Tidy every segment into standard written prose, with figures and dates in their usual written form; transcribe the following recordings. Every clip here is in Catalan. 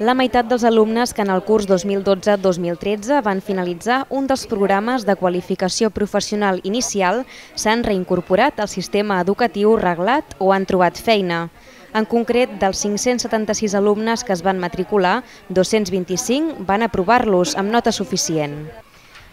La meitat dels alumnes que en el curs 2012-2013 van finalitzar un dels programes de qualificació professional inicial s'han reincorporat al sistema educatiu reglat o han trobat feina. En concret, dels 576 alumnes que es van matricular, 225 van aprovar-los amb nota suficient.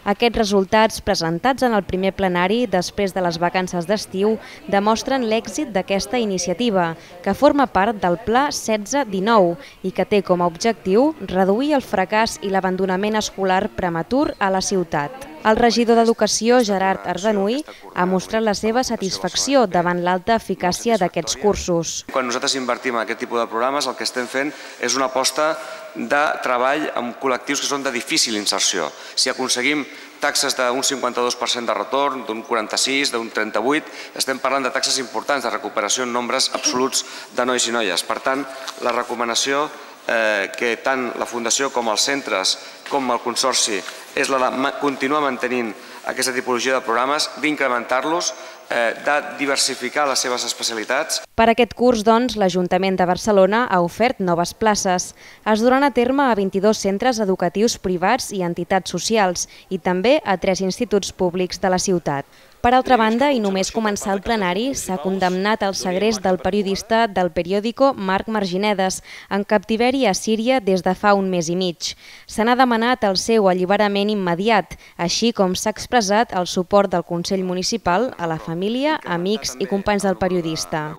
Aquests resultats, presentats en el primer plenari després de les vacances d'estiu, demostren l'èxit d'aquesta iniciativa, que forma part del Pla 16-19 i que té com a objectiu reduir el fracàs i l'abandonament escolar prematur a la ciutat. El regidor d'Educació, Gerard Ardanuy, ha mostrat la seva satisfacció davant l'alta eficàcia d'aquests cursos. Quan nosaltres invertim en aquest tipus de programes, el que estem fent és una aposta de treball amb col·lectius que són de difícil inserció. Si aconseguim taxes d'un 52% de retorn, d'un 46%, d'un 38%, estem parlant de taxes importants de recuperació en nombres absoluts de nois i noies. Per tant, la recomanació que tant la Fundació com els centres com el Consorci és la de continuar mantenint aquesta tipologia de programes, d'incrementar-los, de diversificar les seves especialitats. Per aquest curs, doncs, l'Ajuntament de Barcelona ha ofert noves places. Es duran a terme a 22 centres educatius privats i entitats socials i també a 3 instituts públics de la ciutat. Per altra banda, i només començar el plenari, s'ha condemnat el segrest del periodista del periòdico Marc Marginedes, en captiveri a Síria des de fa un mes i mig. Se n'ha demanat el seu alliberament immediat, així com s'ha expressat el suport del Consell Municipal a la família, amics i companys del periodista.